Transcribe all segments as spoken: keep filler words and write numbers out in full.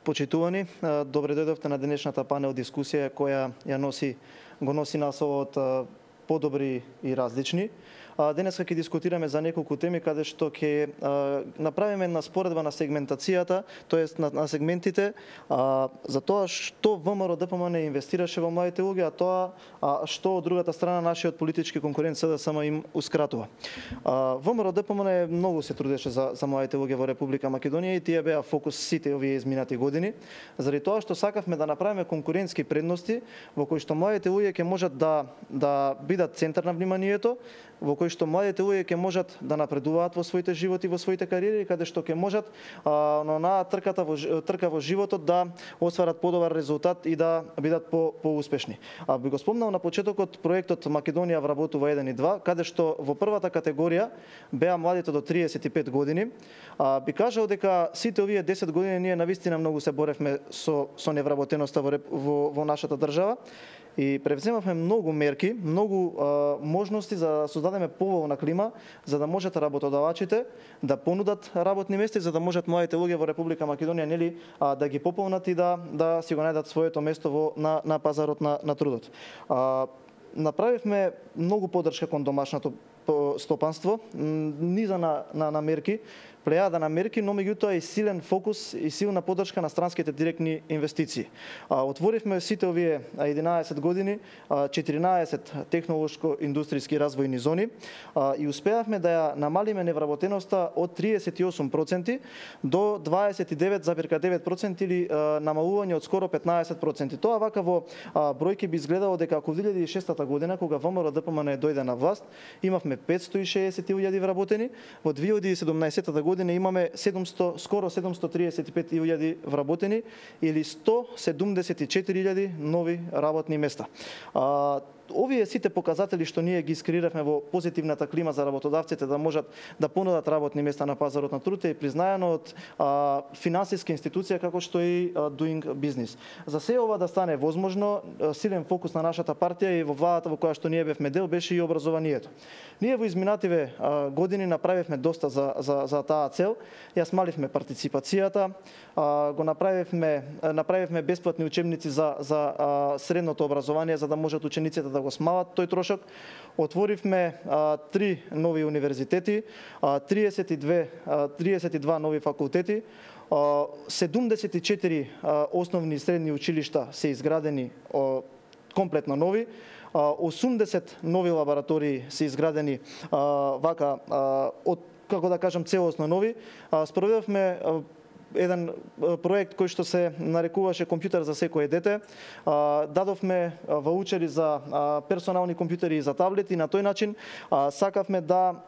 Почитувани, добре дојдовте на денешната панел дискусија која ја носи го носи насовот подобри и различни. Денеска ќе дискутираме за неколку теми каде што ќе направиме една споредба на сегментацијата, тоест на, на сегментите а, за тоа што ВМРО Д П М Н инвестираше во младите луѓе, а тоа а, што од другата страна нашиот политички конкурент С Д С М им ускратува. ВМРО Д П М Н многу се трудеше за, за младите луѓе во Република Македонија и тие беа фокус сите овие изминати години, заради тоа што сакавме да направиме конкурентски предности во кои што младите луѓе ќе можат да да бидат центар на вниманието, во кои што младите луѓе ќе можат да напредуваат во своите животи, во своите кариери, каде што ќе можат а, на онаа трката во трка во животот да остварат подобар резултат и да бидат по поуспешни. А би го спомнал на почетокот проектот Македонија вработува еден и два, каде што во првата категорија беа младите до триесет и пет години. А, би кажал дека сите овие десет години ние навистина многу се боревме со со невработеноста во во, во нашата држава. И превземавме многу мерки, многу а, можности за да создадеме поволна клима, за да можат работодавачите да понудат работни места, за да можат младите луѓе во Република Македонија нели а, да ги пополнат и да да си го најдат своето место во на на пазарот на на трудот. А, направивме многу поддршка кон домашното стопанство, низа на на, на мерки, плејада на мерки, но меѓутоа и силен фокус и силна поддршка на странските директни инвестиции. А, отворивме сите овие единаесет години четиринаесет технолошко-индустријски развојни зони а, и успеавме да ја намалиме невработеноста од триесет и осум проценти до дваесет и девет зарез девет проценти или а, намалување од скоро петнаесет проценти. Тоа вака во а, бројки би изгледало дека ако во две илјади и шеста година кога ВМРО Д П М Н дојде на власт, имавме петстотини и шеесет илјади вработени, во две илјади и седумнаесета година имаме седумсто, скоро седумсто триесет и пет илјади вработени или сто седумдесет и четири илјади нови работни места. А, овие сите показатели што ние ги искреиравме во позитивната клима за работодавците да можат да понудат работни места на пазарот на труд е признаено од а, финансиска институција како што и а, Doing Business. За се ова да стане возможно, силен фокус на нашата партија и во владата во која што ние бевме дел беше и образованието. Ние во изминативе а, години направивме доста за за за таа цел. Ја смаливме партиципацијата, а, го направивме направивме бесплатни учебници за за а, средното образование за да можат учениците да го смалат тој трошок. Отворивме а, три нови универзитети, а, триесет и две, а, триесет и два нови факултети, а, седумдесет и четири а, основни и средни училишта се изградени а, комплетно нови, а, осумдесет нови лаборатории се изградени а, вака а, од како да кажам целосно нови. А, спроведовме а, еден проект кој што се нарекуваше компјутер за секое дете. Дадовме ваучери за персонални компјутери и за таблети. На тој начин сакавме да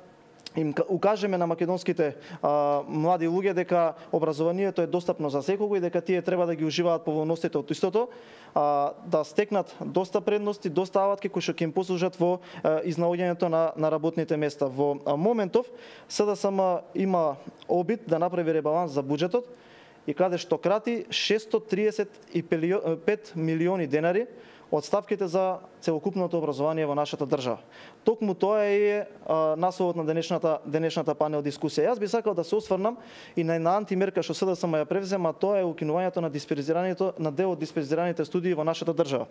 им укажеме на македонските а, млади луѓе дека образованието е достапно за секого и дека тие треба да ги уживаат поволностите од истото, а, да стекнат доста предности, доста алатки кои што ќе им послужат во а, изнаоѓањето на, на работните места. Во а, моментов С Д С М има обид да направи ребаланс за буџетот и каде што крати шестстотини триесет и пет милиони денари од ставките за целокупното образование во нашата држава. Токму тоа е а, насловот на денешната денешната панел дискусија. Јас би сакал да се осврнам и на една антимерка што С Д С М ја превзема, тоа е укинувањето на дисперзирањето на дел од дисперзираните студии во нашата држава.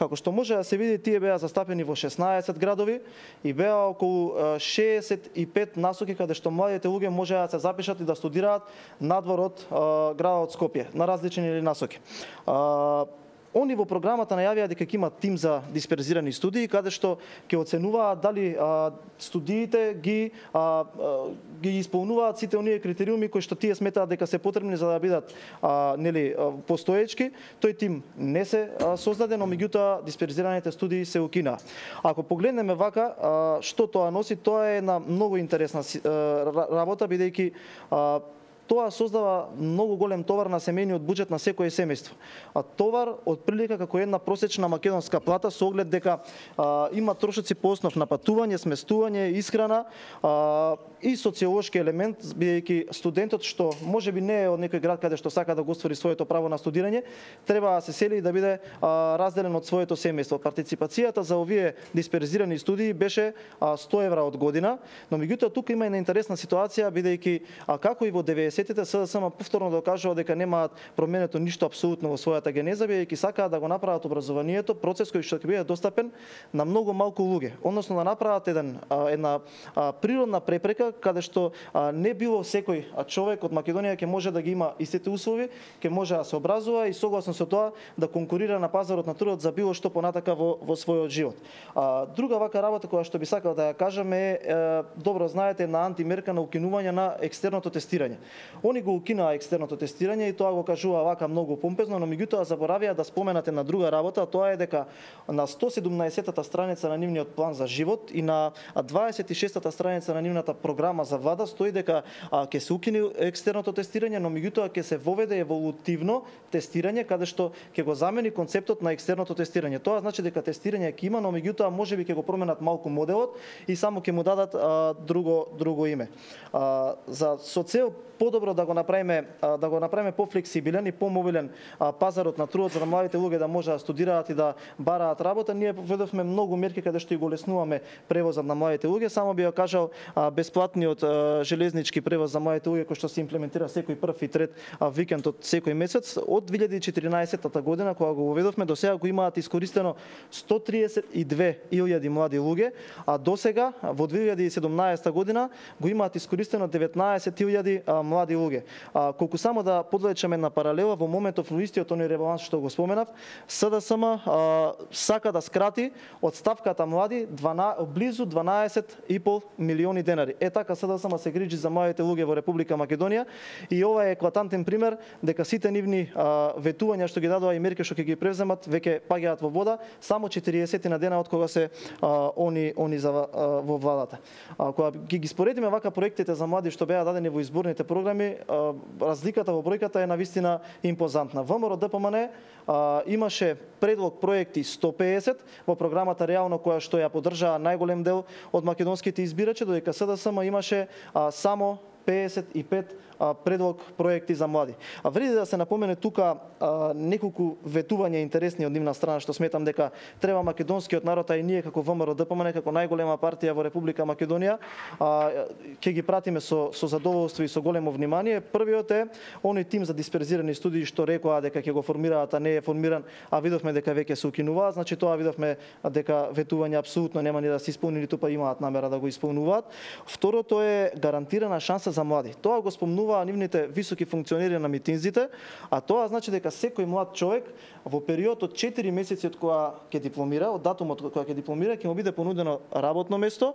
Како што може да се види, тие беа застапени во шеснаесет градови и беа околу шеесет и пет насоки каде што младите луѓе можеа да се запишат и да студираат надвор од а, градот Скопје на различни насоки. А, Они во програмата најавија дека ќе има тим за дисперзирани студии, каде што ќе оценуваат дали а, студиите ги а, а, ги исполнуваат сите оние критериуми кои што тие сметаат дека се потребни за да бидат а, нели постоечки. Тој тим не се а, создаде, но меѓутоа дисперзираните студии се укинаа. Ако погледнеме вака, а, што тоа носи, тоа е една многу интересна а, работа, бидејќи а, тоа создава многу голем товар на семејниот буџет на секое семејство. А товар од прилика како една просечна македонска плата со оглед дека а, има трошоци по основ на патување, сместување, исхрана а, и социолошки елемент, бидејќи студентот што можеби не е од некој град каде што сака да го оствари своето право на студирање, треба да се сели и да биде а, разделен од своето семејство. Партиципацијата за овие дисперзирани студии беше а, сто евра од година, но меѓутоа тука има една интересна ситуација, бидејќи а, како и во деветдесетите деветдесетите СДСМ повторно докажува дека немаат променето ништо апсолутно во својата генеза, бидејќи сакаат да го направат образованието процес кој што ќе биде достапен на многу малку луѓе, односно да направат еден една природна препрека каде што не било секој човек од Македонија ќе може да ги има истите услови, ќе може да се образува и согласно со тоа да конкурира на пазарот на трудот за било што понатака во, во својот живот. А, друга вака работа која што би сакал да ја кажам е, е добро знаете на антимерка на укинување на екстерното тестирање. Они го укинаа екстерното тестирање и тоа го кажува вака многу помпезно, но меѓутоа заборавија да споменат една друга работа, а тоа е дека на сто седумнаесеттата страница на нивниот план за живот и на дваесет и шестата страница на нивната програма за влада стои дека ќе се укине екстерното тестирање, но меѓутоа ќе се воведе еволутивно тестирање каде што ќе го замени концептот на екстерното тестирање. Тоа значи дека тестирање ќе има, но меѓутоа можеби ќе го променат малку моделот и само ќе му дадат а, друго друго име. А, за со цел подобро да го направиме да го направиме пофлексибилен и помобилен пазарот на трудот за да младите луѓе да можат да студираат и да бараат работа, ние поведовме многу мерки каде што и го леснуваме превозот на младите луѓе. Само би ја кажал бесплатниот железнички превоз за младите луѓе кој што се имплементира секој прв и трет викенд од секој месец од две илјади и четиринаесетта година кога го воведовме, до сега го имаат искористено сто триесет и две илјади млади луѓе, а до сега во две илјади и седумнаесетта година го имаат искористено деветнаесет илјади млади луѓе. А, колку само да подлечеме на паралела, во моментов во истиот оној ребаланс што го споменав, СДСМ а, сака да скрати од ставката млади дванаесет, близу дванаесет и пол милиони денари. Е така СДСМ се грижи за младите луѓе во Република Македонија и ова е еклатантен пример дека сите нивни а, ветувања што ги дадоа и мерки што ќе ги превземат веќе паѓаат во вода само четириесет на дена од кога се а, они они за а, во владата. А, кога ги, ги споредиме вака проектите за млади што беа дадени во изборните програми, разликата во бројката е навистина импозантна. ВМРО Д П М Н имаше предлог проекти сто пеесет во програмата реално која што ја поддржаа најголем дел од македонските избирачи, додека СДСМ имаше а, само пеесет и пет предлог проекти за млади. А вреди да се напомене тука а, неколку ветувања интересни од нивна страна што сметам дека треба македонскиот народ, а и ние како ВМРО Д П М Н како најголема партија во Република Македонија а, ќе ги пратиме со со задоволство и со големо внимание. Првиот е оној тим за дисперзирани студии што рекоа дека ќе го формираат, а не е формиран, а видовме дека веќе се укинуваат. Значи тоа видовме дека ветување апсолутно нема ни да се исполни, ниту па имаат намера да го исполнуваат. Второто е гарантирана шанса за млади. Тоа го спомнува нивните високи функционери на митинзите, а тоа значи дека секој млад човек во период од четири месеци од кога ќе дипломира, од датумот од кога ќе дипломира, ќе му биде понудено работно место,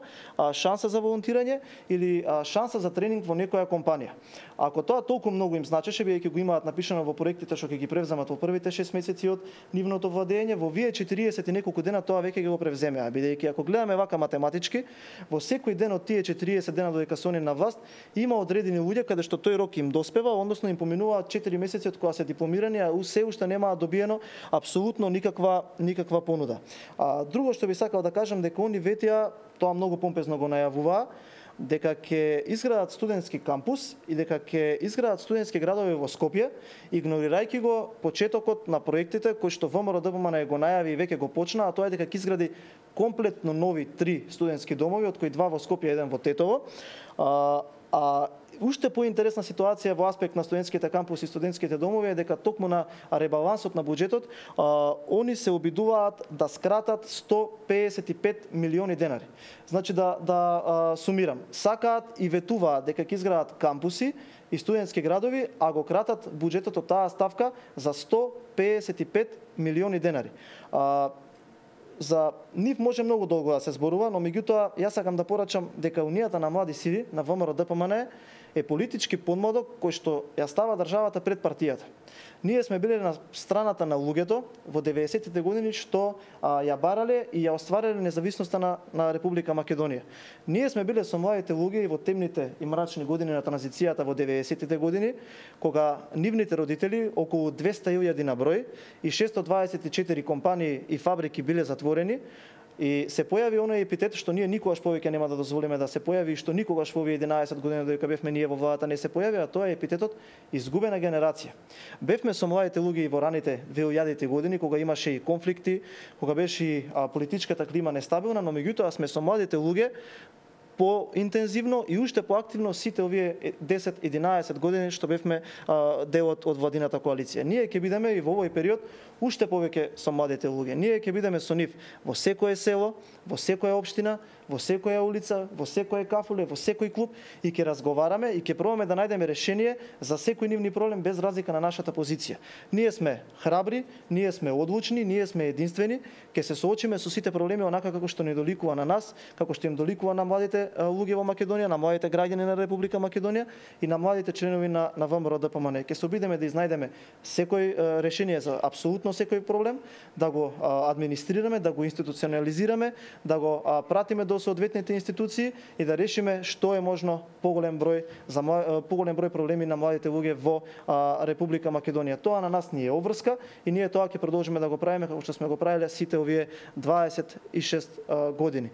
шанса за волонтирање или шанса за тренинг во некоја компанија. Ако тоа толку многу им значеше, бидејќи го имаат напишано во проектите што ќе ги превземат во првите шест месеци од нивното владење, во вие четириесет и неколку дена тоа веќе го превземеа, бидејќи ако гледаме вака математички, во секој ден од тие четириесет дена додека се они на власт, има одредени луѓе каде што тој рок им доспева, односно им поминуваат четири месеци од кога се дипломирани, а се уште немаат добиено апсолутно никаква никаква понуда. А друго што би сакал да кажам дека они ветија, тоа многу помпезно го најавуваа, дека ќе изградат студентски кампус и дека ќе изградат студентски градови во Скопје, игнорирајќи го почетокот на проектите кои што ВМРО Д П М Н го најави и веќе го почна, а тоа е дека ќе изгради комплетно нови три студентски домови, од кои два во Скопје, еден во Тетово. А, а уште поинтересна ситуација во аспект на студентските кампуси и студентските домови е дека токму на ребалансот на буџетот а, они се обидуваат да скратат сто пеесет и пет милиони денари. Значи да да а, сумирам, сакаат и ветуваат дека ќе изградат кампуси и студентски градови, а го кратат буџетот од таа ставка за сто пеесет и пет милиони денари. А, За нив може многу долго да се зборува, но меѓутоа јас сакам да порачам дека унијата на млади сили на ВМРО Д П М Н е политички подмладок кој што ја става државата пред партијата. Ние сме биле на страната на луѓето во деветдесетите години што а, ја барале и ја оствариле независноста на, на Република Македонија. Ние сме биле со младите луѓе и во темните и мрачни години на транзицијата во деветдесетите години, кога нивните родители, околу двесте илјади на број и шестстотини дваесет и четири компании и фабрики биле затворени, и се појави оној епитет што ние никогаш повеќе нема да дозволиме да се појави и што никогаш во овие единаесет години додека бевме ние во владата не се појави, а тоа е епитетот изгубена генерација. Бевме со младите луѓе и во раните две илјадите години кога имаше и конфликти, кога беше и а, политичката клима нестабилна, но меѓутоа сме со младите луѓе поинтензивно и уште поактивно сите овие десет-единаесет години што бевме делот од владината коалиција. Ние ќе бидеме и во овој период уште повеќе со младите луѓе. Ние ќе бидеме со нив во секое село, во секоја општина, во секоја улица, во секое кафуле, во секој клуб и ќе разговараме и ќе пробаме да најдеме решение за секој нивни проблем без разлика на нашата позиција. Ние сме храбри, ние сме одлучни, ние сме единствени, ќе се соочиме со сите проблеми онака како што ни доликува на нас, како што им доликува на младите луѓе во Македонија, на младите граѓани на Република Македонија и на младите членови на на ВМРО Д П М Н. Ќе се обидеме да изнајдеме секој решение за апсолутно секој проблем, да го администрираме, да го институционализираме, да го пратиме до соодветните институции и да решиме што е можно поголем број за поголем број проблеми на младите луѓе во Република Македонија. Тоа на нас ни е обврска и ние тоа ќе продолжиме да го правиме како што сме го правеле сите овие дваесет и шест години.